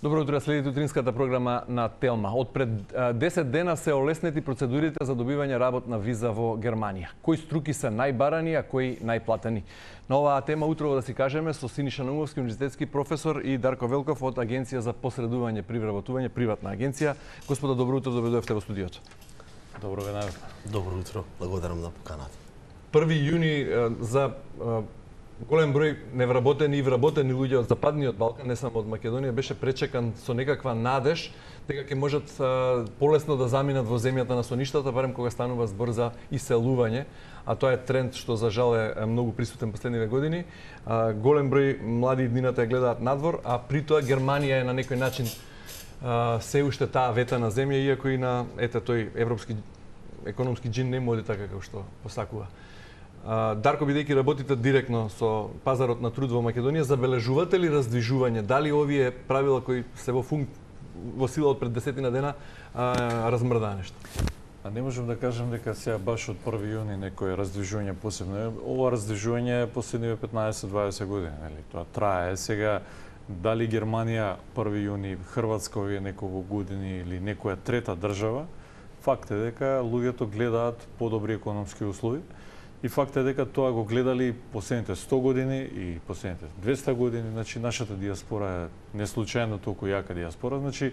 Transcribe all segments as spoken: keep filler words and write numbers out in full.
Добро утро, следите утринската програма на Телма. Од пред десет дена се олеснети процедурите за добивање работна виза во Германија. Кои струки се најбарани, а кои најплатени? На оваа тема утрово да си кажеме со Синиша Наумовски, универзитетски професор, и Дарко Велков од Агенција за посредување при вработување, приватна агенција. Господа, добро утро, добредојавте во студиото. Добро ве најавте. Добро утро, благодарам на поканата. први јуни за голем број невработени и вработени луѓе од Западниот Балкан, не само од Македонија, беше пречекан со некаква надеж дека ќе можат а, полесно да заминат во земјата на соништата, барем кога станува збор за иселување, а тоа е тренд што за жал е многу присутен последниве години. А, голем број млади иднината ја гледаат надвор, а при тоа Германија е на некој начин а, се уште таа ветана земја, иако и на ете тој европски економски џин не му оди така како што посакува. Дарко, бидејќи работите директно со пазарот на труд во Македонија, забележувате ли раздвижување? Дали овие правила кои се во функ... во сила од пред десетина дена а, размрдаа нешто? А не можам да кажам дека сега баш од први јуни некој раздвижување посебно. Ова раздвижување е последниве петнаесет-дваесет години, нели? Тоа трае. Сега дали Германија први јуни, Хрватска овие неколку години или некоја трета држава, факт е дека луѓето гледаат подобри економски услови. И факт е дека тоа го гледали последните сто години и последните двесте години, значи нашата диаспора е неслучајно толку јака диаспора, значи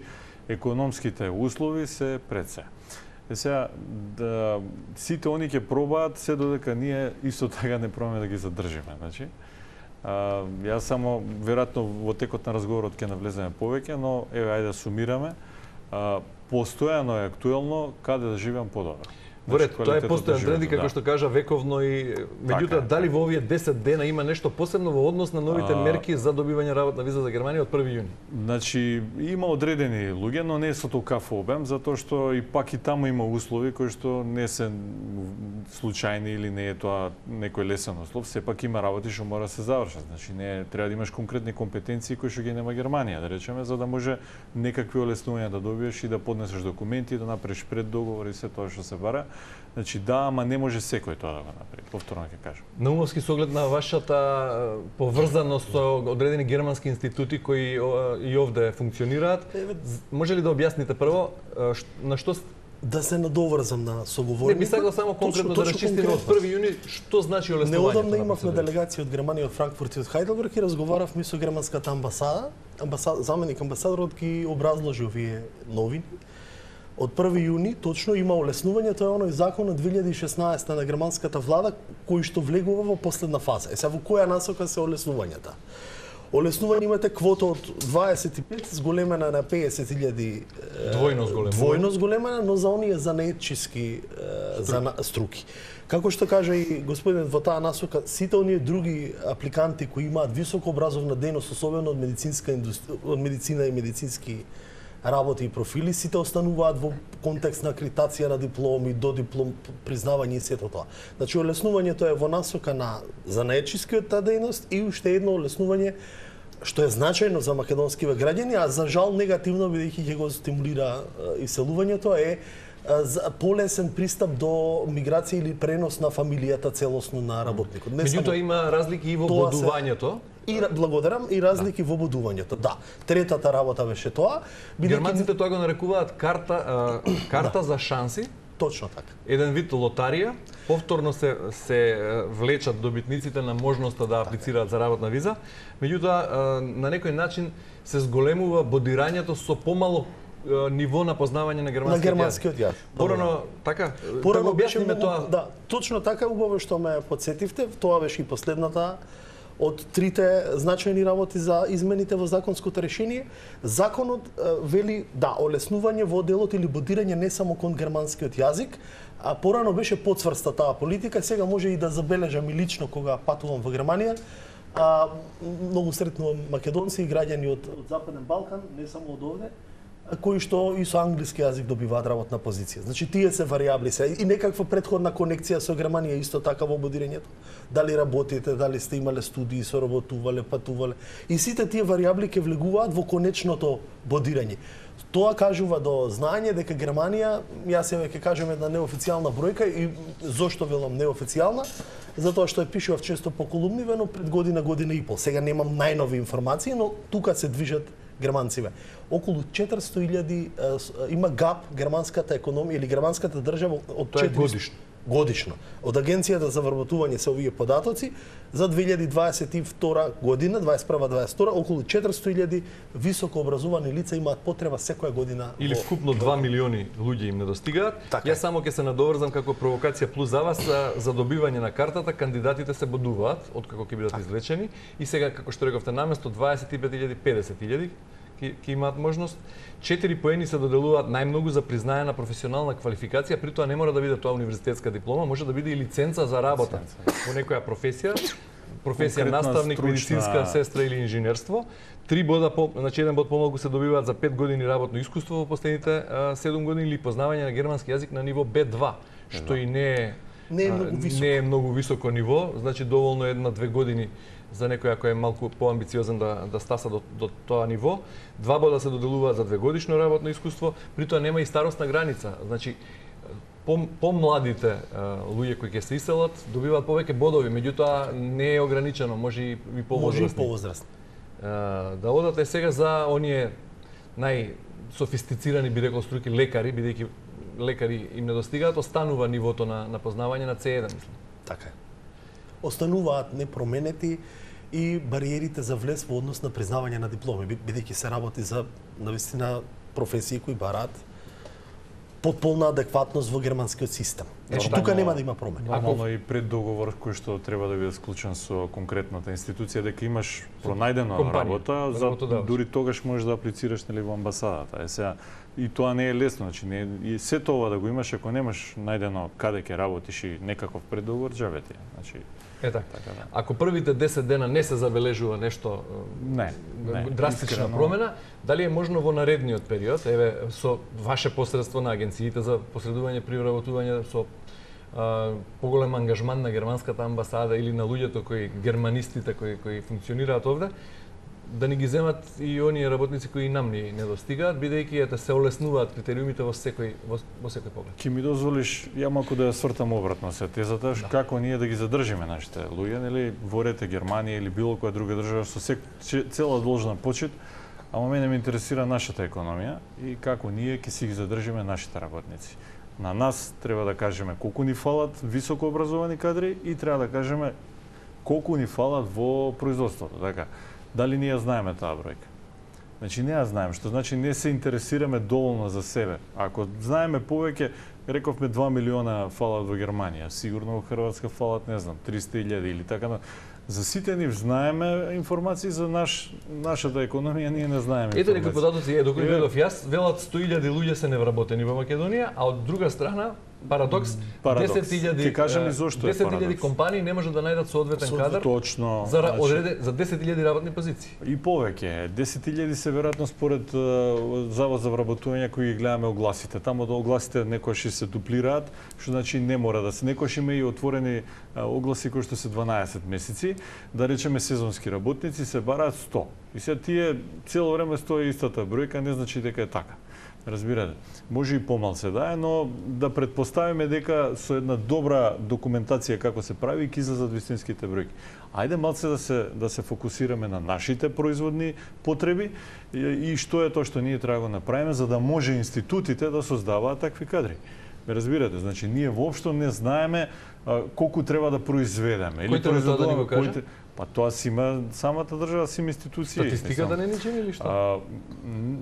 економските услови се пред се. Е сега, да, сите они ќе пробаат се додека ние исто така не пробаме да ги задржиме, значи. А, јас само веројатно во текот на разговорот ќе навлеземе повеќе, но еве ајде да сумираме. А, постојано е актуелно каде да живеам подобро. Во ред, тоа е постојан тренд, како да. Што кажа вековно, и меѓутоа дали во овие десет дена има нешто посебно во однос на новите а... мерки за добивање работна виза за Германија од први јуни? Значи, има одредени луѓе, но не со толкав обем, затоа што и пак и таму има услови кои што не се случајни или не е тоа некој лесен услов, сепак има работи што мора да се завршат. Значи, не треба да имаш конкретни компетенции кои што ги нема Германија, да речеме, за да може некакви олеснувања да добиеш и да поднесеш документи, да направиш преддоговор и се тоа што се бара. Значи да, ама не може секој тоа да го направи. Повторно ќе кажам. Наумовски, со оглед на вашата поврзаност со одредени германски институти кои и овде функционираат, може ли да објасните прво на што да се надоврзам на соговорникот? Не би сакал само конкретно точно, да расчистиме од први јуни што значи олеснувањето. Неодамна имавме делегација од Германија, од Франкфурт и од Хајделберг и разговаравме со германската амбасада. Амбасад, заменик амбасадорот ги образложи овие новини. Од први јуни точно има олеснување, тоа е оној закон од две илјади и шеснаесета на германската влада кој што влегува во последна фаза. Е сега во која насока се олеснувањата? Олеснување имате квота од дваесет и пет зголемена на песет илјади двојно зголемена. Двојно зголемена, но за оние занаетчиски за струки. Како што кажа и господинот во таа насока, сите оние други апликанти кои имаат високо образовна дејност, особено од медицинска индустрија, од медицина и медицински работи и профили, сите остануваат во контекст на акредитација на дипломи, до диплом признавање и сето тоа. Значи, олеснувањето е во насока на занаетчискиот таа дејност и уште едно олеснување што е значајно за македонскиве граѓани, а за жал негативно, бидејќи ќе го стимулира иселувањето, е полесен пристап до миграција или пренос на фамилијата целосно на работникот. Меѓутоа има разлики и во бодувањето. И благодарам и разлики да. Во бодувањето. Да, третата работа беше тоа. Германците тоа го нарекуваат карта а, карта да. За шанси. Точно така. Еден вид лотарија. Повторно се се влечат добитниците на можноста да аплицираат за работна виза. Меѓутоа на некој начин се зголемува бодирањето со помало ниво на познавање на германскиот, на германскиот јазик. Порано така. Порано да објасниме тоа. Да, точно така, убаво што ме потсетивте. Тоа беше и последната од трите значајни работи за измените во законското решение. Законот вели да олеснување во делот или бодирање не само кон германскиот јазик, а порано беше потврста таа политика. Сега може и да забележам и лично кога патувам во Германија. А, многу сретнувам македонци и граѓани од, од Западен Балкан, не само од овде, кои што и со англиски јазик добиваат работна позиција. Значи тие се варијабли се и некаква претходна конекција со Германија исто така во бодирањето. Дали работите, дали сте имале студии, соработувале, патувале. И сите тие варијабли ќе влегуваат во конечното бодирање. Тоа кажува до знаење дека Германија, јас ја ќе кажем една неофицијална бројка и зошто велам неофицијална, затоа што ја пишував често по колумниве, но пред година, година и пол. Сега немам најнови информации, но тука се движат германциве. Околу четиристотини илјади има гап германската економија или германската држава од Тоа е четиристотини годишно. годишно. Од Агенцијата за вработување се овие податоци за две илјади дваесет и втора година, дваесет и прва дваесет и втора, околу четиристотини илјади високо образовани лица имаат потреба секоја година. Или во- вкупно два милиони луѓе им недостигаат. Така е. Јас само ќе се надоврзам како провокација плюс за вас за, за добивање на картата, кандидатите се бодуваат откако ќе бидат извлечени и сега како што рековте наместо дваесет и пет илјади педесет илјади ќе ќе имаат можност. Четири поени се доделуваат најмногу за признаена професионална квалификација, при тоа не мора да биде тоа универзитетска диплома, може да биде и лиценца за работа во некоја професија, професија Конкретна, наставник, стручна- медицинска сестра или инженерство. Три бода по, значи еден бод помалку се добиваат за пет години работно искуство во последните а, седум години или познавање на германски јазик на ниво Б два, што и не е Не е а, многу високо. не е многу високо ниво, значи доволно е една-две години за некој кој е малку поамбициозен да да стаса до, до тоа ниво. Два бода се доделуваат за двегодишно работно искуство, при тоа нема и старосна граница. Значи по помладите луѓе кои ќе се иселат добиваат повеќе бодови, меѓутоа не е ограничено, може и, и Може и повозрастни. повозрастни. А, да одате сега за оние најсофистицирани, би рекол струки, лекари, бидејќи лекари им недостигаат, останува нивото на, на познавање на Це еден, мислам. Така е. Остануваат непроменети и бариерите за влез во однос на признавање на дипломи, би- бидејќи се работи за навистина професии кои бараат потполна адекватност во германскиот систем. Значи Нормално- тука нема да има промени. Нормално и пред договор кој што треба да биде склучен со конкретната институција дека имаш пронајдена компанија, работа, за работодавач. дури тогаш можеш да аплицираш нели во амбасадата. Е сега и тоа не е лесно, значи не е- и сето ова да го имаш ако немаш најдено каде ќе работиш и некаков преддоговор, џабе ти. е. Значи Е така. така да. Ако првите десет дена не се забележува нешто Не, не, драстична искрено. промена, дали е можно во наредниот период, еве со ваше посредство на агенциите за посредување при вработување со а, поголем ангажман на германската амбасада или на луѓето кои германистите кои кои функционираат овде, да ни ги земат и оние работници кои и нам ни недостигаат, бидејќи ете се олеснуваат критериумите во секој во, во секој поглед. Ки ми дозволиш ја малку да ја свртам обратно се тезата, да. Како ние да ги задржиме нашите луѓе, нели, во рете Германија или било која друга држава со сек, че- цела должна почит, ама мене ме интересира нашата економија и како ние ќе си ги задржиме нашите работници. На нас треба да кажеме колку ни фалат високо образовани кадри и треба да кажеме колку ни фалат во производството, така. Дали ние знаеме таа бројка? Значи не ја знаеме, што значи не се интересираме доволно за себе. Ако знаеме повеќе, рековме два милиона фалат во Германија, сигурно во Хрватска фалат, не знам, триста илјади или така. За сите нив знаеме информации за наш нашата економија, ние не знаеме. Ете некои информации. податоци, е, доколку Е. гледав јас, велат сто илјади луѓе се невработени во Македонија, а од друга страна, парадокс, Парадокс. десет илјади Ќе кажам и зошто е десет илјади парадокс. компании не може да најдат соодветен Соодветен кадар Точно. за ра- значи, одреде за десет илјади работни позиции. И повеќе. десет илјади се веројатно според е, Завод за вработување кои ги гледаме огласите. Таму до огласите некојаш и се дуплираат, што значи не мора да се. Некојаш има и отворени е, огласи кои што се дванаесет месеци, да речеме сезонски работници се бараат сто. И се тие цело време стои истата бројка, не значи дека е така. Разбирате, може и помалце да е, но да предпоставиме дека со една добра документација како се прави ќе излезат вистинските бројки. Ајде малце да се да се фокусираме на нашите производни потреби и, и што е тоа што ние треба да го направиме за да може институтите да создаваат такви кадри. Ме разбирате, значи ние воопшто не знаеме а, колку треба да произведеме Кој треба тоа да ни го каже? кој- Па тоа си има самата држава, си има институции. Статистиката не ни чини или што? А,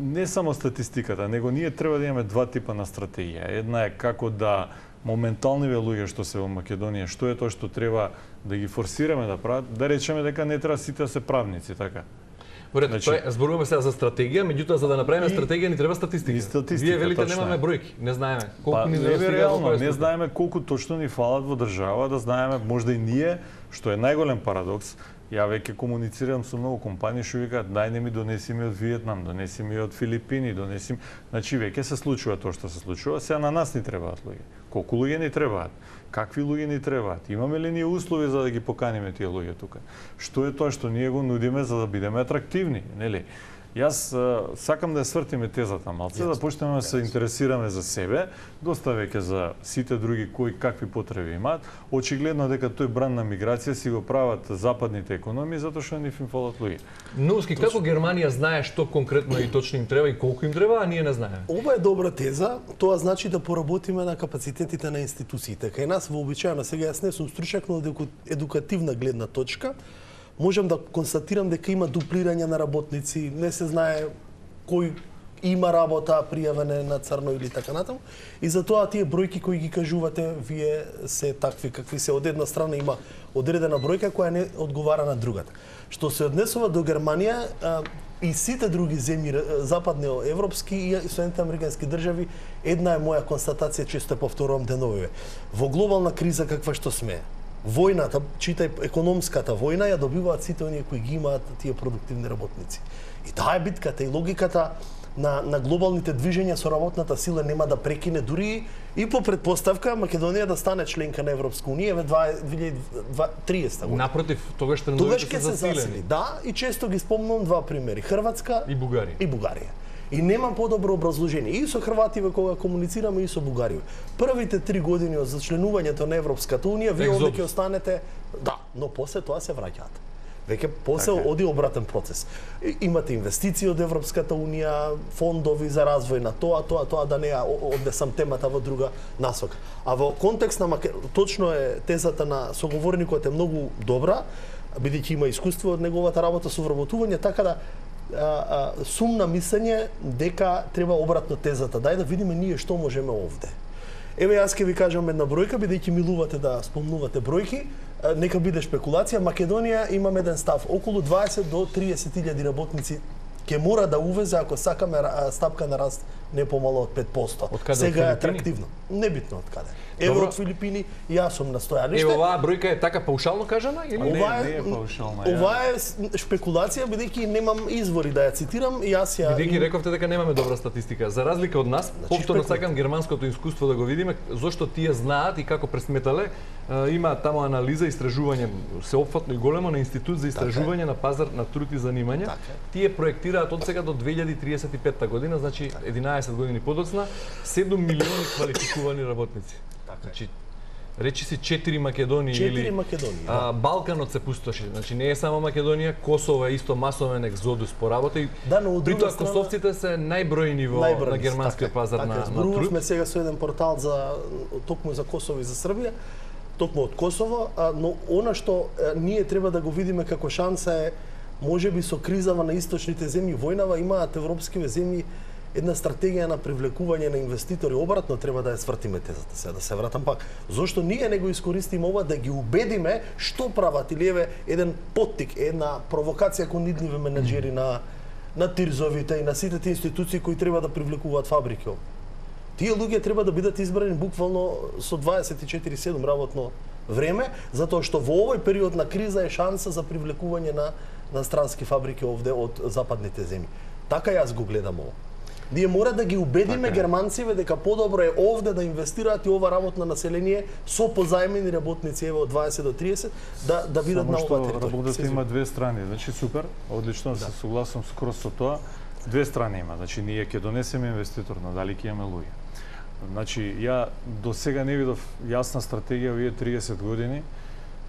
не само статистиката, него ние треба да имаме два типа на стратегија. Една е како да моменталниве луѓе што се во Македонија, што е тоа што треба да ги форсираме да прават, да речеме дека не треба сите да се правници, така. Во ред, значи- тоа е, зборуваме сега за стратегија, меѓутоа за да направиме И- стратегија ни треба статистика. и статистика, Вие велите точно немаме е. бројки, не знаеме колку Па, ни не е недостига во реално, која не струка. знаеме колку точно ни фалат во држава, да знаеме можда и ние, што е најголем парадокс. Ја веќе комуницирам со многу компании што викаат дај не ми донеси ми од Виетнам, донеси ми од Филипини, донеси ми... Значи веќе се случува тоа што се случува, сега на нас ни требаат луѓе. Колку луѓе ни требаат? Какви луѓе ни требаат? Имаме ли ние услови за да ги поканиме тие луѓе тука? Што е тоа што ние го нудиме за да бидеме атрактивни, нели? Јас а, сакам да ја свртиме тезата малце, да почнеме да се интересираме за себе, доста веќе за сите други кои какви потреби имаат. Очигледно дека тој бран на миграција си го прават западните економии затоа што нив им фалат луѓе. Нулски, како Германија знае што конкретно и точно им треба и колку им треба, а ние не знаеме? Ова е добра теза, тоа значи да поработиме на капацитетите на институциите. Кај нас вообичаено, сега јас не сум стручак, но од едукативна гледна точка, можам да констатирам дека има дуплирање на работници, не се знае кој има работа пријавена на црно или така натаму. И затоа тие бројки кои ги кажувате вие се такви какви се. Од една страна има одредена бројка која не одговара на другата. Што се однесува до Германија а, и сите други земји западноевропски и Соединените американски држави, една е моја констатација, често повторувам деновиве. Во глобална криза каква што сме, војната, читај економската војна, ја добиваат сите оние кои ги имаат тие продуктивни работници. И таа е битката и логиката на, на глобалните движења со работната сила нема да прекине дури и по предпоставка Македонија да стане членка на Европска унија во две илјади и триесета година. Напротив, тогаш Тогаш трендовите ќе се се засили. засилени. Да, и често ги спомнувам два примери. Хрватска И Бугарија. и Бугарија. И немам подобро образложение и со хрвативе кога комуницираме и со бугариве. Првите три години од зачленувањето на Европската унија, вие Екзодус. овде ќе останете, да, но после тоа се враќаат. Веќе после Така е. оди обратен процес. И- Имате инвестиции од Европската унија, фондови за развој на тоа, тоа, тоа, да не ја о- однесам темата во друга насока. А во контекст на Маке... точно е тезата на соговорникот е многу добра, бидејќи има искуство од неговата работа со вработување, така да а, а, сум на мислење дека треба обратно тезата. Дај да видиме ние што можеме овде. Еве јас ќе ви кажам една бројка, бидејќи милувате да спомнувате бројки, а, нека биде шпекулација. Македонија имам еден став, околу дваесет до триесет илјади работници ќе мора да увезе ако сакаме а, стапка на раст не помало од пет проценти. Од каде, од Сега е Филипини? атрактивно. Небитно од каде. Еве Добро. од Филипини, јас сум на стојаниште. Ево, оваа бројка е така паушално кажана или Не, Ова не е, е паушална, ја. ова е с- шпекулација, бидејќи немам извори да ја цитирам, и јас ја... Бидејќи рековте дека немаме добра статистика. За разлика од нас, повторно шпекулативно. сакам германското искуство да го видиме, зошто тие знаат и како пресметале. Е, Има таму анализа, истражување сеопфатно и големо на Институт за истражување на пазар на труд и занимање. Така е. Тие проектираат од сега до две илјади триесет и петта година, значи единаесет години подоцна, седум милиони квалификувани работници. Така е. Значи, речи си четири Македонии Четири или Македонии, а, Балканот се пустоши. Значи не е само Македонија, Косово е исто масовен екзодус по работа и Да, но од друга притоа страна- косовците се најбројни во Најбрзо, на германскиот така е, пазар така на, е. на Зборувавме труд. сега со еден портал за токму за Косово и за Србија, токму од Косово, а, но она што е, ние треба да го видиме како шанса е можеби со кризава на источните земји, војнава имаат европскиве земји една стратегија на привлекување на инвеститори, обратно треба да ја свртиме тезата, сега да се вратам пак. Зошто ние не го искористиме ова да ги убедиме што прават, или еве еден поттик, една провокација кон идниве менаџери на на тирзовите и на сите тие институции кои треба да привлекуваат фабрики. Тие луѓе треба да бидат избрани буквално со дваесет и четири седум работно време, затоа што во овој период на криза е шанса за привлекување на на странски фабрики овде од западните земји. Така јас го гледам ово. Ние мора да ги убедиме Така е. германците дека подобро е овде да инвестираат и ова работно население со позајмени работници еве од дваесет до триесет да да бидат Само на што оваа територија. работата Се има две страни, значи супер, одлично се согласам скроз со тоа. Две страни има, значи ние ќе донесеме инвеститор, но дали ќе имаме луѓе. Значи ја до сега не видов јасна стратегија овие триесет години.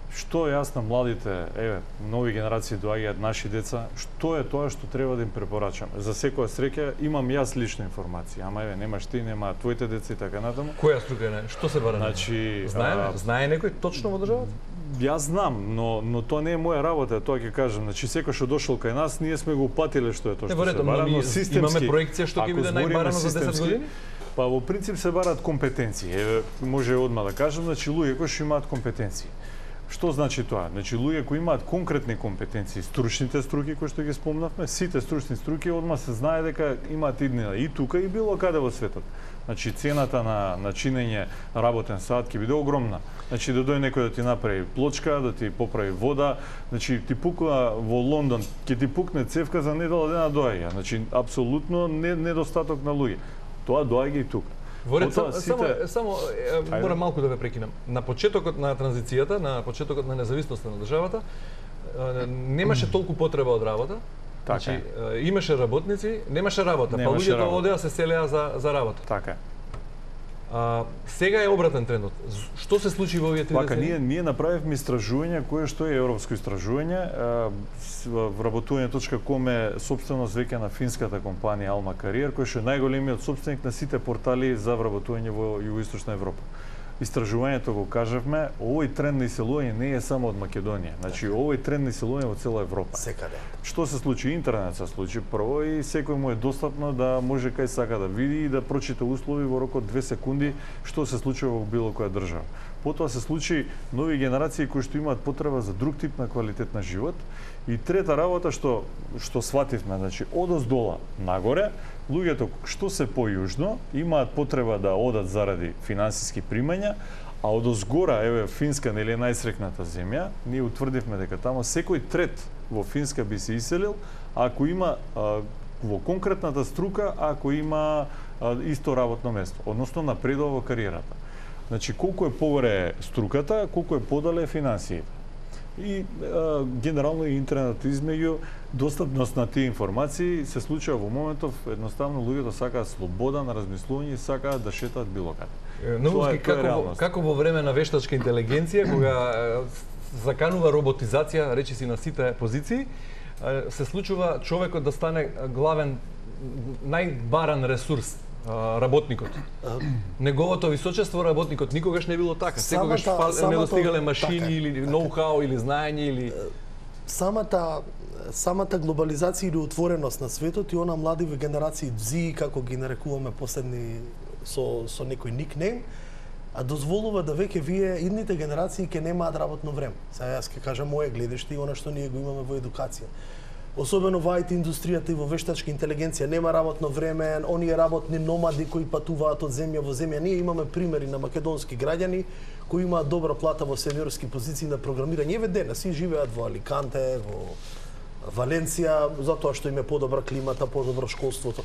Што е јас на младите, еве, нови генерации доаѓаат, наши деца, што е тоа што треба да им препорачаме? За секоја среќа имам јас лична информација, ама еве немаш ти, нема твоите деца и така натаму. Која струка е? Што се бараме? Значи, знае, а, знае некој точно во државата? Јас знам, но но тоа не е моја работа, тоа ќе кажам. Значи секој што дошол кај нас, ние сме го упатиле што е тоа Не, што во се ред, но бара, ние но системски. имаме проекција што ќе ако биде збориме најбарано за десет системски, години? Па во принцип се бараат компетенции. Еве, може одма да кажам, значи луѓе кои што имаат компетенции. Што значи тоа? Значи луѓе кои имаат конкретни компетенции, стручните струки кои што ги спомнавме, сите стручни струки одма се знае дека имаат иднина и тука и било каде во светот. Значи цената на на чинење работен сат ќе биде огромна. Значи да дојде некој да ти направи плочка, да ти поправи вода, значи ти пукна во Лондон, ќе ти пукне цевка за недела дена доаѓа. Значи апсолутно не, недостаток на луѓе. Тоа доаѓа и тука. Во ред, Потоа само, сите- само, само е, морам малку да ве прекинам. На почетокот на транзицијата, на почетокот на независноста на државата, е, немаше толку потреба од работа. Значи, е, имаше работници, немаше работа, па Немаше луѓето работа. одеа се селеа за за работа. Така е. А, сега е обратен трендот. Што се случи во овие три Вака, децени? ние, ние направивме истражување кое што е европско истражување. а, с- Вработување точка ком е собственост веќе на финската компанија Alma Career, кој што е најголемиот собственик на сите портали за вработување во Југоисточна Европа. Истражувањето го кажавме, овој тренд на иселување не е само од Македонија. Значи, овој тренд на иселување во цела Европа. Секаде. Што се случи? Интернет се случи прво и секој му е достапно да може кај сака да види и да прочита услови во рок од две секунди што се случува во било која држава. Потоа се случи нови генерации кои што имаат потреба за друг тип на квалитет на живот. И трета работа што што свативме, значи одоздола нагоре, луѓето што се појужно имаат потреба да одат заради финансиски примања, а одозгора, еве Финска нели е најсрекната земја, ние утврдивме дека тамо секој трет во Финска би се иселил ако има а, во конкретната струка, ако има а, исто работно место, односно напредува во кариерата. Значи колку е погоре струката, колку е подале финансиите. И а, генерално и интернет измеѓу достапност на тие информации се случува во моментов едноставно луѓето сакаат слобода на размислување и сакаат да шетаат било каде. Новски, како, во- како во време на вештачка интелигенција, кога е, заканува роботизација, речи си на сите позиции, е, се случува човекот да стане главен, најбаран ресурс, а, работникот. Неговото височество работникот никогаш не било така. Секогаш Самата- фал- самото- недостигале машини така е, или така е. ноу-хау или знаење или Самата самата глобализација или отвореност на светот и она младиве генерации Зи, како ги нарекуваме последни со со некој никнейм, а дозволува да веќе вие идните генерации ќе немаат работно време. Сега јас ќе кажам моје гледиште и она што ние го имаме во едукација. Особено во ай ти индустријата и во вештачка интелигенција нема работно време, оние работни номади кои патуваат од земја во земја. Ние имаме примери на македонски граѓани кои имаат добра плата во сениорски позиции на програмирање. Еве денес си живеат во Аликанте, во Валенција, затоа што им е подобра климата, подобро школството.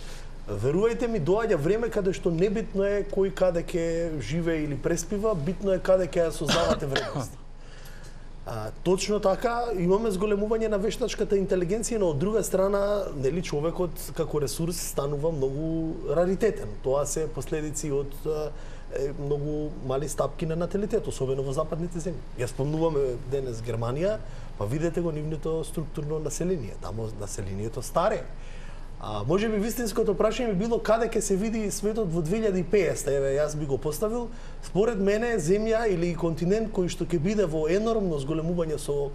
Верувајте ми, доаѓа време каде што небитно е кој каде ќе живее или преспива, битно е каде ќе ја создавате вредност. А, точно така, имаме зголемување на вештачката интелигенција, но од друга страна, нели човекот како ресурс станува многу раритетен. Тоа се последици од е, многу мали стапки на наталитет, особено во западните земји. Ја спомнуваме денес Германија, па видете го нивното структурно население. Тамо населението старе. А може би вистинското прашање би било каде ќе се види светот во две илјади и петдесета, еве јас би го поставил. Според мене земја или континент кој што ќе биде во енормно зголемување со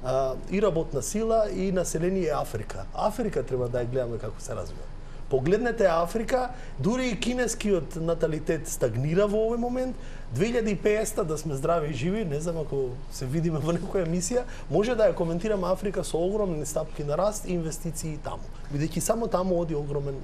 а, и работна сила и население е Африка. Африка треба да ја гледаме како се развива. Погледнете Африка, дури и кинескиот наталитет стагнира во овој момент. две илјади и петдесета да сме здрави и живи, не знам ако се видиме во некоја емисија, може да ја коментираме Африка со огромни стапки на раст и инвестиции таму. Бидејќи само таму оди огромен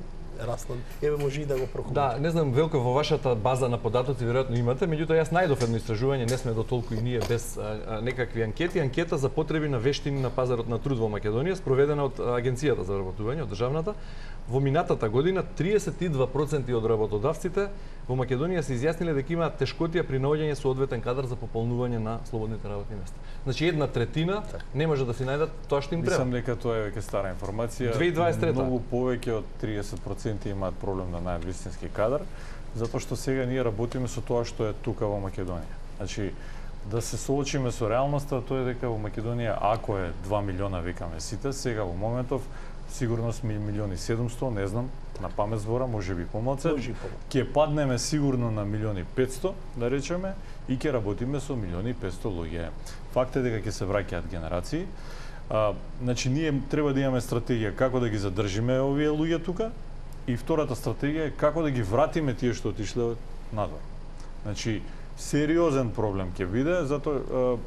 раст. Еве може и да го прокоментираме. Да, не знам, Велко, во вашата база на податоци веројатно имате, меѓутоа јас најдов едно истражување, не сме до толку и ние без а, а, некакви анкети, анкета за потреби на вештини на пазарот на труд во Македонија, спроведена од Агенцијата за вработување, од државната. Во минатата година триесет и два проценти од работодавците во Македонија се изјасниле дека имаат тешкотија при наоѓање соодветен кадар за пополнување на слободните работни места. Значи една третина не може да си најдат тоа што им треба. Мислам дека тоа е веќе стара информација. две илјади и дваесет и трета. Многу повеќе од триесет проценти имаат проблем да најдат вистински кадар, затоа што сега ние работиме со тоа што е тука во Македонија. Значи да се соочиме со реалноста, тоа е дека во Македонија ако е два милиона викаме сите, сега во моментов сигурно сме милиони седумсто, не знам, на памет збора, може би помалце. Може и помалку. Ќе паднеме сигурно на милиони петсто, да речеме, и ќе работиме со милиони петсто луѓе. Факт е дека ќе се враќаат генерации. А, значи ние треба да имаме стратегија како да ги задржиме овие луѓе тука и втората стратегија е како да ги вратиме тие што отишле надвор. Значи сериозен проблем ќе биде, затоа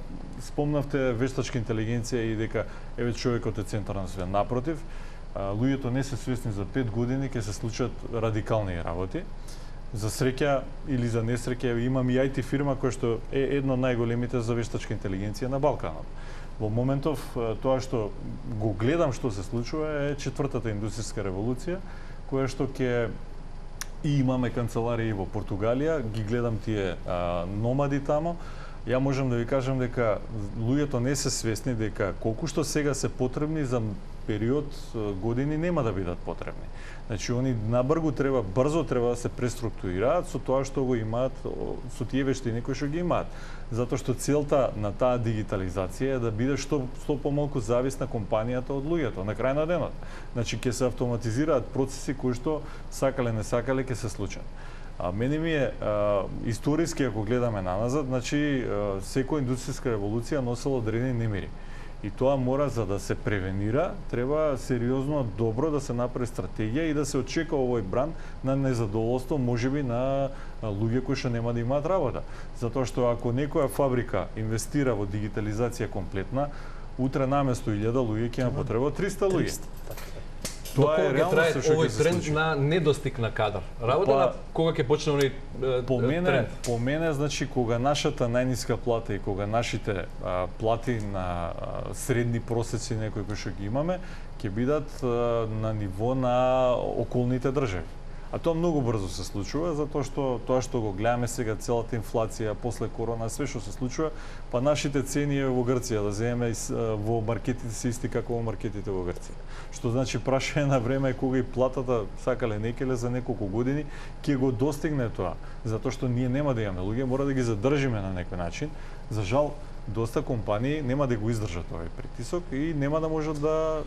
спомнавте вештачка интелигенција и дека еве човекот е центар на све. Напротив, а, луѓето не се свесни за пет години ќе се случат радикални работи. За среќа или за несреќа имам и ай ти фирма која што е едно од најголемите за вештачка интелигенција на Балканот. Во моментов тоа што го гледам што се случува е четвртата индустријска револуција, која што ќе и имаме канцеларии во Португалија, ги гледам тие а, номади тамо, Ја можам да ви кажам дека луѓето не се свесни дека колку што сега се потребни за период години нема да бидат потребни. Значи они набргу треба, брзо треба да се преструктурираат со тоа што го имаат, со тие вештини кои што ги имаат. Затоа што целта на таа дигитализација е да биде што што помалку зависна компанијата од луѓето на крај на денот. Значи ќе се автоматизираат процеси кои што сакале не сакале ќе се случат. А мене ми е а, историски ако гледаме наназад, значи а, секоја индустријска револуција носела одредени немири. И тоа мора, за да се превенира, треба сериозно добро да се направи стратегија и да се очека овој бран на незадоволство, можеби на луѓе кои што нема да имаат работа. Затоа што ако некоја фабрика инвестира во дигитализација комплетна, утре наместо илјада луѓе ќе има потреба триста луѓе. Тоа е реално што овој тренд на недостиг на кадар. Работа па, на кога ќе почне оној по мене, тренд? По мене, значи, кога нашата најниска плата и кога нашите а, плати на а, средни просеци некои кои што ги имаме, ќе бидат а, на ниво на околните држави. А тоа многу брзо се случува, затоа што тоа што го гледаме сега, целата инфлација, после корона, све што се случува, па нашите цени во Грција, да земеме во маркетите се исти како во маркетите во Грција. Што значи прашање на време кога и платата, сакале некеле за неколку години, ќе го достигне тоа. Затоа што ние нема да имаме луѓе, мора да ги задржиме на некој начин. За жал, доста компании нема да го издржат овој притисок и нема да можат да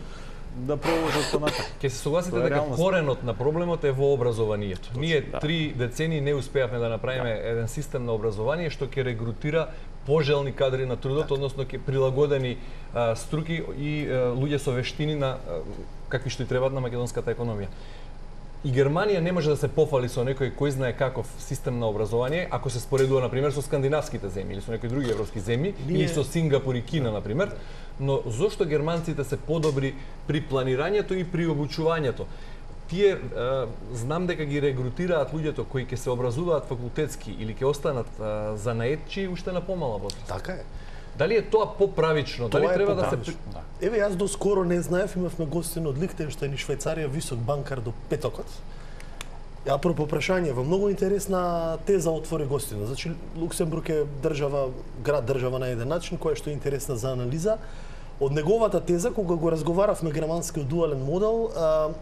да продолжат понатаму. Ќе се согласите дека коренот на проблемот е во образованието. Точно, ние да. три децении не успеавме да направиме да. еден систем на образование што ќе регрутира пожелни кадри на трудот, так. односно ќе прилагодени а, струки и а, луѓе со вештини на а, какви што и требаат на македонската економија. И Германија не може да се пофали со некој кој знае каков систем на образование, ако се споредува на пример со скандинавските земји или со некои други европски земји, Ние... или со Сингапур и Кина на пример. Но зошто германците се подобри при планирањето и при обучувањето? Тие е, знам дека ги регрутираат луѓето кои ќе се образуваат факултетски или ќе останат е, занаетчи уште на помала возраст. Така е. Дали е тоа поправично? Дали тоа треба да се да. Еве јас доскоро не знаев, имавме гостин од Лихтенштајн и Швајцарија, висок банкар до петокот. Ја апропо прашање, во многу интересна теза отвори гостина. Значи Луксембург е држава, град држава на еден начин, која што е интересна за анализа. Од неговата теза, кога го разговаравме германскиот дуален модел,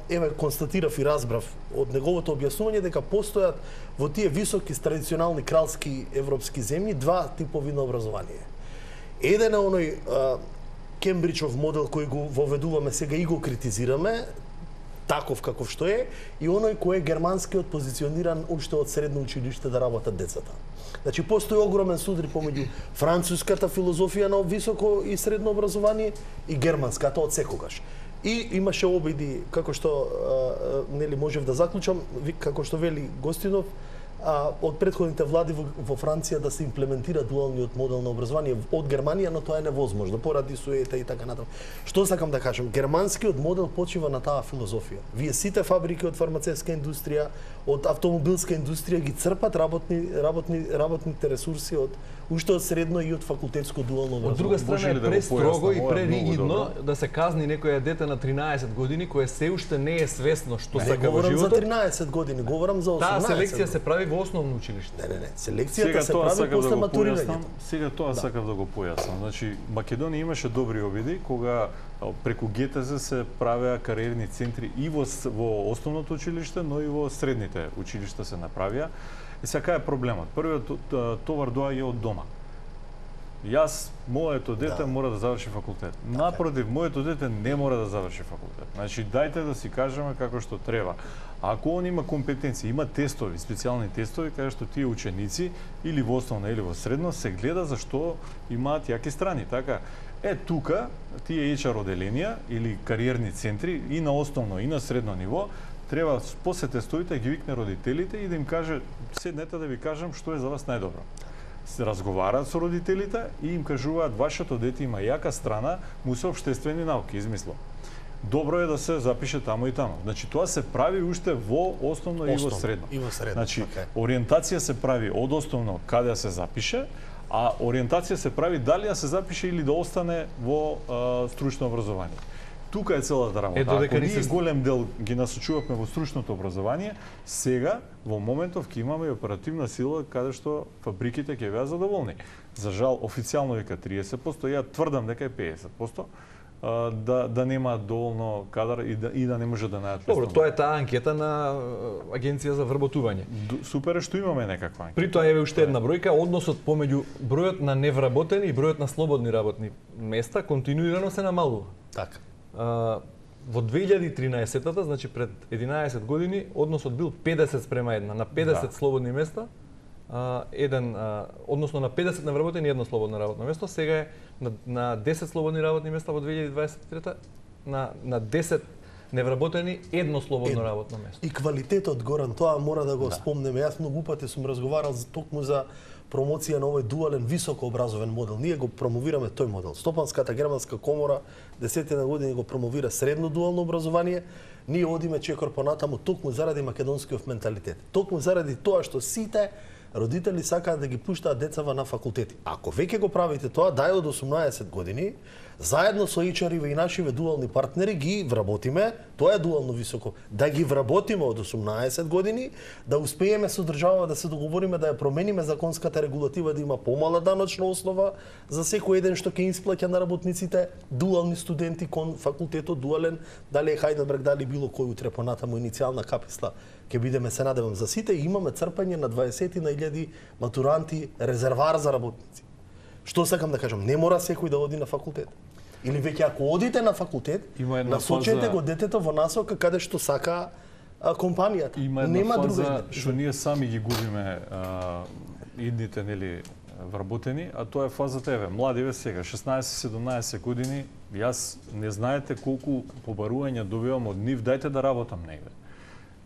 еве констатирав и разбрав од неговото објаснување дека постојат во тие високи традиционални кралски европски земји два типови на образование. Еден е оној Кембриџов модел кој го воведуваме сега и го критизираме, таков каков што е, и оној кој е германскиот позициониран уште од средно училиште да работат децата. Значи постои огромен судар помеѓу француската филозофија на високо и средно образование и германската од секогаш. И имаше обиди, како што а, нели можев да заклучам, како што вели гостинов, а, од претходните влади во, во Франција да се имплементира дуалниот модел на образование од Германија, но тоа е невозможно поради суета и така натаму. Што сакам да кажам? Германскиот модел почива на таа филозофија. Вие сите фабрики од фармацевска индустрија, од автомобилска индустрија ги црпат работни работни работните ресурси од уште од средно и од факултетско дуално образование. Од друга страна е престрого и преригидно да се казни некоја дете на тринаесет години кое се уште не е свесно што не, сака во животот. Не говорам за тринаесет години, говорам за осумнаесет. Таа селекција се прави во основно училиште. Не, не, не. Селекцијата се прави после матурирање. Сега тоа да. сакав да го појаснам. Значи Македонија имаше добри обиди кога преку ге те зе се правеа кариерни центри и во, во основното училиште, но и во средните училишта се направија. И сега е проблемот. Првиот товар доаѓа од дома. Јас, моето дете да. мора да заврши факултет. Така. Напротив, моето дете не мора да заврши факултет. Значи, дајте да си кажеме како што треба. Ако он има компетенции, има тестови, специјални тестови, каде што тие ученици или во основна или во средно се гледа за што имаат јаки страни, така? Е, тука, тие ейч ар оделенија или кариерни центри и на основно и на средно ниво, треба после тестовите ги викне родителите и да им каже, седнете да ви кажам што е за вас најдобро. Се разговараат со родителите и им кажуваат, вашето дете има јака страна, му се општествени науки, измисло. Добро е да се запише тамо и тамо. Значи тоа се прави уште во основно, основно и во средно. И во средно. Значи okay. ориентација се прави од основно каде се запише, а ориентација се прави дали да се запише или да остане во а, стручно образование. Тука е целата работа. Ето дека ние се... голем дел ги насочувавме во стручното образование, сега во моментов ќе имаме и оперативна сила каде што фабриките ќе беа задоволни. За жал официјално вика триесет проценти, ја тврдам дека е педесет проценти. да да нема доволно кадар и да и да не може да најдат. Добро, тоа е таа анкета на Агенција за вработување. Супер е што имаме некаква анкета. При тоа еве уште една бројка, односот помеѓу бројот на невработени и бројот на слободни работни места континуирано се намалува. Така. А, во две илјади и тринаесетта, значи пред единаесет години, односот бил педесет спрема една, на педесет да. слободни места, а, еден, а, односно на педесет невработени едно слободно работно место, сега е на, на десет слободни работни места во две илјади и дваесет и трета, на, на десет невработени едно слободно едно. работно место. И квалитетот, Горан, тоа мора да го да. спомнеме. Јас многу пати сум разговарал за токму за промоција на овој дуален високообразовен модел. Ние го промовираме тој модел. Стопанската германска комора десетина години го промовира средно дуално образование. Ние одиме чекор понатаму токму заради македонскиот менталитет. Токму заради тоа што сите родители сакаат да ги пуштаат децава на факултети. Ако веќе го правите тоа, дај од осумнаесет години, заедно со ейч ар-иве и нашиве дуални партнери ги вработиме, тоа е дуално високо, да ги вработиме од осумнаесет години, да успееме со држава да се договориме да ја промениме законската регулатива, да има помала даночна основа за секој еден што ќе исплаќа на работниците, дуални студенти кон факултетот дуален, дали е Хајделберг, дали било кој утре понатаму иницијална каписла, ќе бидеме, се надевам, за сите, и имаме црпање на дваесет на илјади матуранти, резервар за работници. Што сакам да кажам, не мора секој да оди на факултет. Или веќе ако одите на факултет, насочете фаза... го детето во насока каде што сака а, компанијата. Има една Нема фаза што ние сами ги губиме а, идните, нели, вработени, а тоа е фазата, еве, младиве сега, шеснаесет-седумнаесет години, јас не знаете колку побарувања добивам од нив, дајте да работам негде.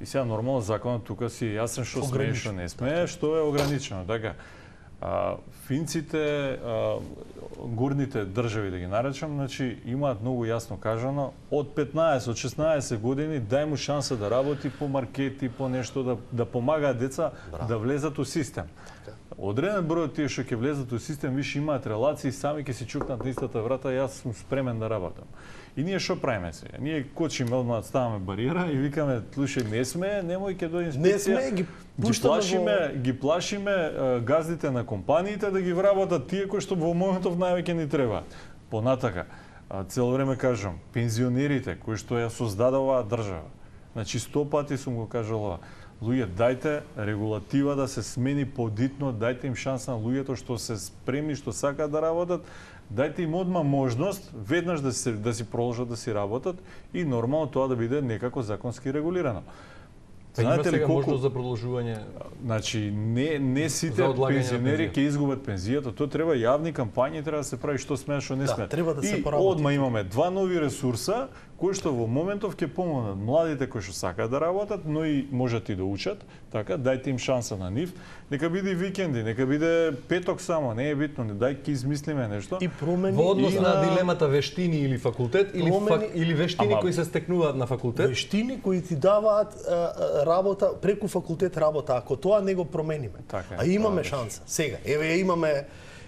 И сега нормално законот тука си јасен што смее, што не смее, што е ограничено, така. А, финците, а, горните држави да ги наречам, значи имаат многу јасно кажано, од петнаесет, од шеснаесет години дај му шанса да работи по маркети, по нешто, да, да помагаат деца Браво. да влезат у систем. Одреден број од тие што ќе влезат у систем, више имаат релации, сами ќе си чукнат на истата врата, јас сум спремен да работам. И ние што правиме сега? Ние кочиме, одма ставаме бариера и викаме, слушај, не сме, немој ќе дојде инспекција. Не сме, ги пуштаме ги плашиме, во... ги плашиме uh, газдите на компаниите да ги вработат тие кои што во моментов највеќе ни треба. Понатака, uh, цело време кажам, пензионерите кои што ја создадува оваа држава. Значи сто пати сум го кажал ова. Луѓе, дајте регулатива да се смени подитно, дајте им шанса на луѓето што се спремни, што сакаат да работат, дајте им одма можност веднаш да се да си продолжат да си работат и нормално тоа да биде некако законски регулирано. Знаете ли колку можност за продолжување? Значи не не сите пензионери ќе изгубат пензијата, тоа треба јавни кампањи, треба да се прави што смее, што не да, смее. Треба да се и одма имаме два нови ресурса кои што во моментов ќе помогнат младите кои што сакаат да работат, но и можат и да учат, така дајте им шанса на нив. Нека биде викенди, нека биде петок само, не е битно, не дај ќе измислиме нешто. И промени во однос на... на дилемата вештини или факултет или промени... фак... или вештини Ама... кои се стекнуваат на факултет. Вештини кои ти даваат а, работа преку факултет работа, ако тоа не го промениме. Така, а имаме шанса. Сега, еве имаме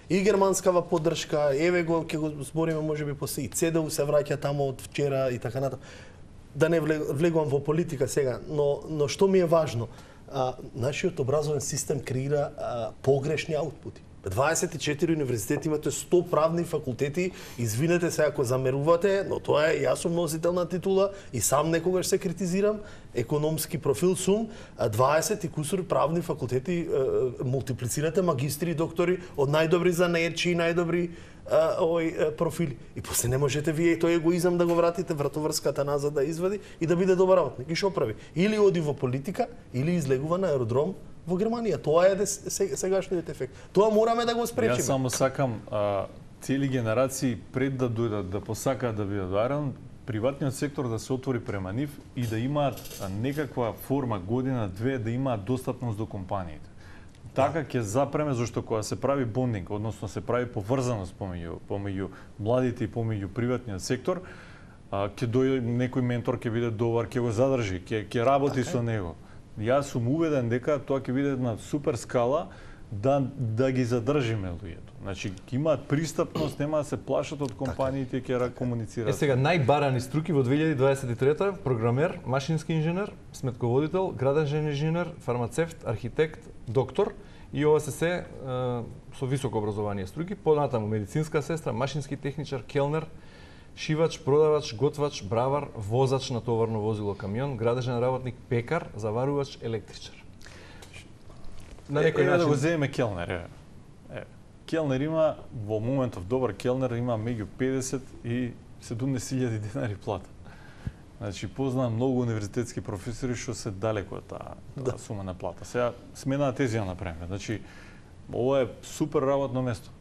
и германскава поддршка, еве го ќе го збориме можеби после и ЦДУ се враќа таму од вчера и така натаму. Да не влегувам во политика сега, но но што ми е важно, а, нашиот образовен систем креира а, погрешни аутпути. дваесет и четири универзитети имате сто правни факултети, извинете се ако замерувате, но тоа е, јас сум носител на титула и сам некогаш се критизирам, економски профил сум, дваесет и кусур правни факултети, мултиплицирате магистри и доктори од најдобри занаетчи и најдобри овој профили. И после не можете вие тој егоизам да го вратите, вратоврската назад да извади и да биде добар работник. И што прави? Или оди во политика, или излегува на аеродром во Германија. Тоа е сегашниот ефект. Тоа мораме да го спречиме. Јас само сакам а, цели генерации пред да дојдат да посакаат да бидат баран, приватниот сектор да се отвори према нив и да имаат некаква форма година две да имаат достапност до компаниите. Така ќе запреме зашто кога се прави бондинг, односно се прави поврзаност помеѓу помеѓу младите и помеѓу приватниот сектор, а, ќе дојде некој ментор ќе биде добар, ќе го задржи, ќе ќе работи така со него. Јас сум уведен дека тоа ќе биде на супер скала да да ги задржиме луѓето. Значи ќе имаат пристапност, нема да се плашат од компаниите и ќе комуницираат. Е сега најбарани струки во две илјади дваесет и трета програмер, машински инженер, сметководител, градежен инженер, фармацевт, архитект, доктор и ова се се со високо образование струки, понатаму медицинска сестра, машински техничар, келнер, шивач, продавач, готвач, бравар, возач на товарно возило камион, градежен работник, пекар, заварувач, електричар. На некој начин да го земеме келнер. Е. Е. Келнер има во моментов добар келнер има меѓу педесет и седумдесет илјади денари плата. Значи познавам многу универзитетски професори што се далеку од таа да. сума на плата. Сега смена на тезија напремер. Значи ова е супер работно место.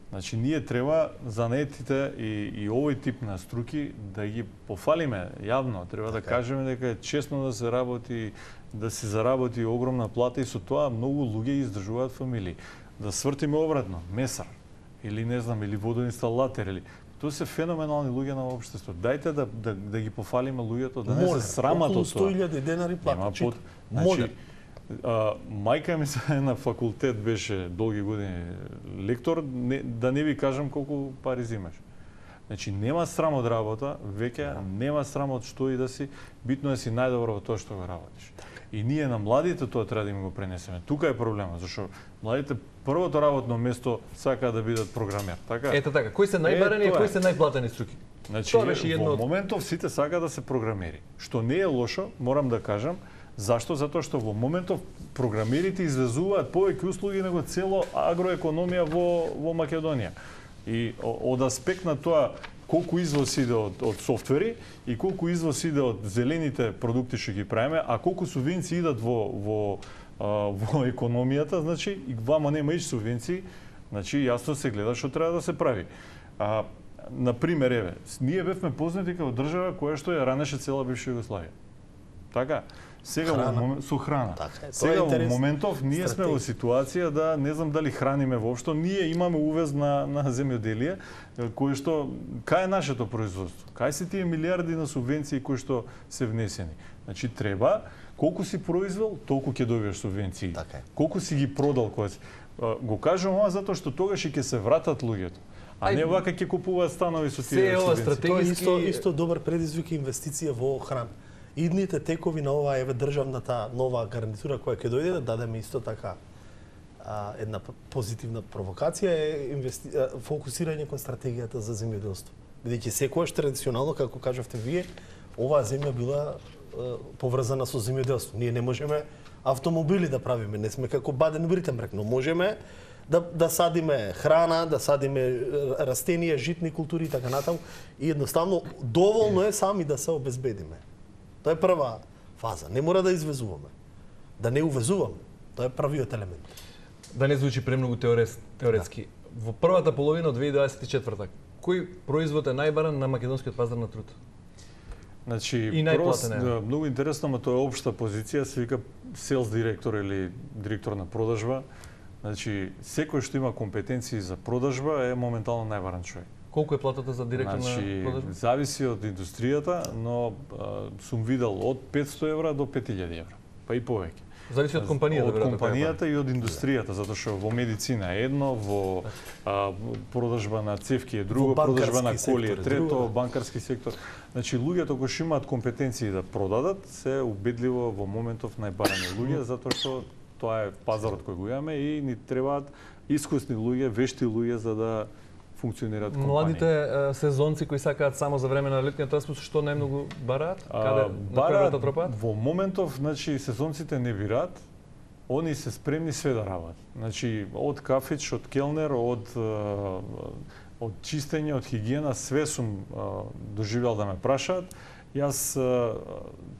Значи ние треба занаетите и, и овој тип на струки да ги пофалиме јавно. Треба така. Да кажеме дека е честно да се работи, да се заработи огромна плата и со тоа многу луѓе издржуваат фамилии. Да свртиме обратно, месар или не знам, или водоинсталатор или тоа се феноменални луѓе на општеството. Дајте да, да, да ги пофалиме луѓето, да не се срамат од тоа. сто илјади денари плата. Под... Значи, а, мајка ми се на факултет беше долги години лектор, не, да не ви кажам колку пари зимаш. Значи нема срам од работа, веќе нема срам од што и да си, битно е си најдобро во тоа што го работиш. И ние на младите тоа треба да им го пренесеме. Тука е проблемот, зашто младите првото работно место сакаат да бидат програмер, така? Ете така, кои се најбарани и кои се најплатени струки? Значи, тоа беше едно во моментов сите сакаат да се програмери, што не е лошо, морам да кажам. Зашто? Затоа што во моментов програмерите извезуваат повеќе услуги него цело агроекономија во во Македонија. И од аспект на тоа колку извоз иде од, од софтвери и колку извоз иде од зелените продукти што ги правиме, а колку субвенции идат во во а, во економијата, значи и вама нема иш субвенции, значи јасно се гледа што треба да се прави. А, на пример, еве, ние бевме познати како држава која што ја ранеше цела бивша Југославија. Така? Сега во момент со храна. Така е. Сега во моментов ние сме во ситуација да не знам дали храниме воопшто, ние имаме увез на на земјоделие кој што кај е нашето производство. Кај се тие милиарди на субвенции кои што се внесени. Значи треба колку си произвел, толку ќе добиеш субвенции. Така е. Колку си ги продал кој го кажувам ова затоа што тогаш ќе се вратат луѓето. А Ај, не вака ќе купуваат станови со тие субвенции. Тоа е исто исто добар предизвик инвестиција во храна. Идните текови на оваа еве државната нова гарнитура која ќе дојде да дадеме исто така а, една позитивна провокација е инвести... фокусирање кон стратегијата за земјоделство. Бидејќи секојаш традиционално, како кажавте вие, оваа земја била а, поврзана со земјоделство. Ние не можеме автомобили да правиме, не сме како Баден-Виртенберг, но можеме да, да садиме храна, да садиме растенија, житни култури и така натаму. И едноставно доволно е сами да се обезбедиме. Тоа е прва фаза. Не мора да извезуваме. Да не увезуваме. Тоа е првиот елемент. Да не звучи премногу теорес, теоретски. Да. Во првата половина од две илјади дваесет и четврта, кој производ е најбаран на македонскиот пазар на труд? Значи, прост, да, многу интересно, но тоа е општа позиција, се вика селс директор или директор на продажба. Значи, секој што има компетенции за продажба е моментално најбаран човек. Колку е платата за директор значи, на продажба? Зависи од индустријата, но а, сум видел од петсто евра до пет илјади евра, па и повеќе. Зависи од компанијата, од компанијата и од индустријата, затоа што во медицина е едно, во а, продажба на цевки е друго, продажба на коли е трето, банкарски сектор. Значи луѓето кои што имаат компетенции да продадат се убедливо во моментов најбарани луѓе, затоа што тоа е пазарот кој го имаме и ни требаат искусни луѓе, вешти луѓе за да функционираат компании. Младите е, сезонци кои сакаат само за време на летниот распуст, што најмногу бараат? Каде бараат тропаат? Во моментов, значи сезонците не бираат, они се спремни све да работат. Значи од кафич, од келнер, од од чистење, од хигиена, све сум доживел да ме прашаат. Јас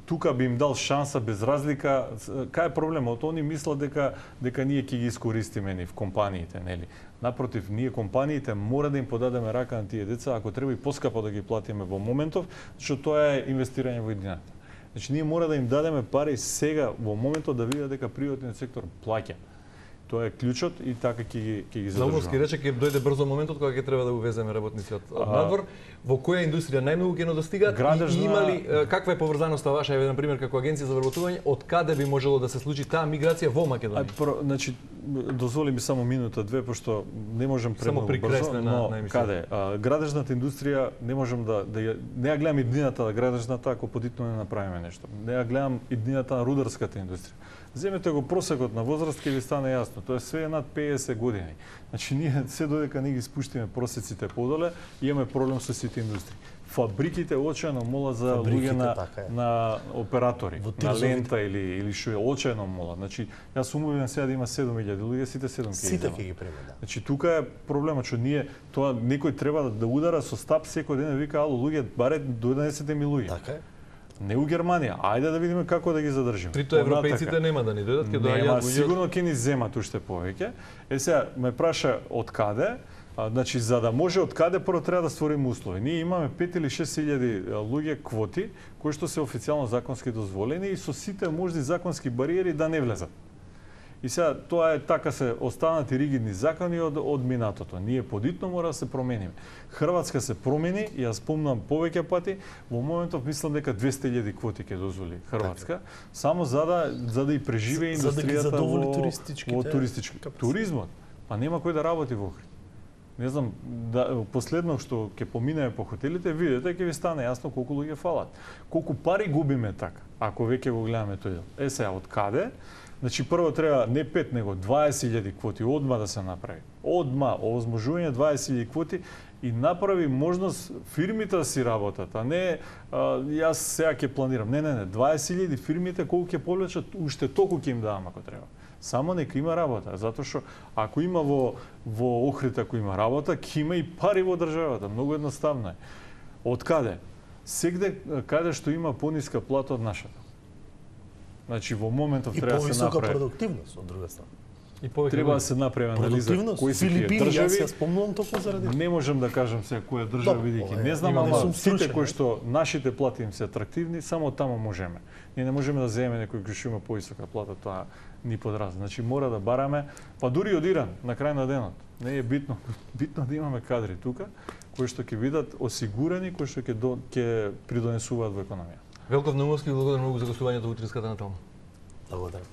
тука би им дал шанса без разлика. Кај е проблемот? Они мислат дека дека ние ќе ги искористиме ни в компаниите, нели? Напротив, ние компаниите мора да им подадеме рака на тие деца, ако треба и поскапо да ги платиме во моментов, што тоа е инвестирање во иднината. Значи ние мора да им дадеме пари сега во моментот да видат дека приватниот сектор плаќа. Тоа е клучот и така ќе ги ќе ги задржуваме. Заумовски рече ќе дојде брзо моментот кога ќе треба да увеземе работници од, од надвор. Во која индустрија најмногу ќе недостигаат Градежна... и има ли каква е поврзаноста ваша, еве на пример како агенција за вработување, од каде би можело да се случи таа миграција во Македонија? А, про, значи дозволи ми само минута две, пошто не можам премногу брзо, прикресне на- но на емисија. каде? А, градежната индустрија не можам да, да ја, не ја гледам иднината на градежната ако подитно не направиме нешто. Не ја гледам иднината на рударската индустрија. Земете го просекот на возраст, ќе ви стане јасно. Тоа е све над педесет години. Значи ние се додека не ги спуштиме просеците подоле, имаме проблем со сите индустрии. Фабриките очајно молат за Фабриките, луѓе на, така е. на оператори, Во на Тирзовите. лента или или што е очајно молат. Значи јас сум убеден сега да има седум илјади луѓе, сите седум ќе Сите иземат. ќе ги приме, да. Значи тука е проблемот што ние тоа некој треба да, да удара со стап секој ден да вика ало луѓе баре донесете ми луѓе. Така е. Не у Германија, ајде да видиме како да ги задржиме. Прито европејците нема да ни дојдат, ќе доаѓаат Нема, луѓе. сигурно ќе ни земат уште повеќе. Е сега ме праша од каде? А, значи за да може од каде прво треба да створиме услови. Ние имаме пет или шест илјади луѓе квоти кои што се официјално законски дозволени и со сите можни законски бариери да не влезат. И сега тоа е така се останати ригидни закони од од минатото. Ние подитно мора да се промениме. Хрватска се промени и јас спомнам повеќе пати, во моментов мислам дека двесте илјади квоти ќе дозволи Хрватска, само за да за да и преживее За- за да ги индустријата задоволи во туристичките во туристички капацитети. туризмот. Па нема кој да работи во Охрид. Не знам, да, последно што ќе поминеме по хотелите, видите, ќе ви стане јасно колку луѓе фалат. Колку пари губиме така, ако веќе го гледаме тој дел. Е сега, од каде? Значи, прво треба не пет, него дваесет илјади квоти одма да се направи. Одма, овозможување дваесет илјади квоти и направи можност фирмите да си работат, а не а, јас сега ќе планирам. Не, не, не, дваесет илјади фирмите колку ќе повлечат, уште толку ќе им давам ако треба. Само нека има работа, затоа што ако има во во Охрид ако има работа, ќе има и пари во државата, многу едноставно е. Од каде? Сегде каде што има пониска плата од нашата. Значи во моментов И треба да се повисока направи. продуктивност од друга страна. И повеќе Треба да луѓе. се направи анализа Продуктивност, кои се тие Филипини, јас ја држави. спомнувам токму заради. Не можам да кажам сега која држава Добро, бидејќи ова е- не знам, има- не ама сум сите стручен, кои е. што нашите плати им се атрактивни, само таму можеме. Ние не можеме да земеме некој кој што има повисока плата, тоа ни подразни. Значи мора да бараме, па дури од Иран на крај на денот. Не е битно, битно да имаме кадри тука кои што ќе бидат осигурени, кои што ќе до, ќе придонесуваат во економија. Велков Наумовски, благодарам многу за гостувањето во Утринската на Том. Благодарам.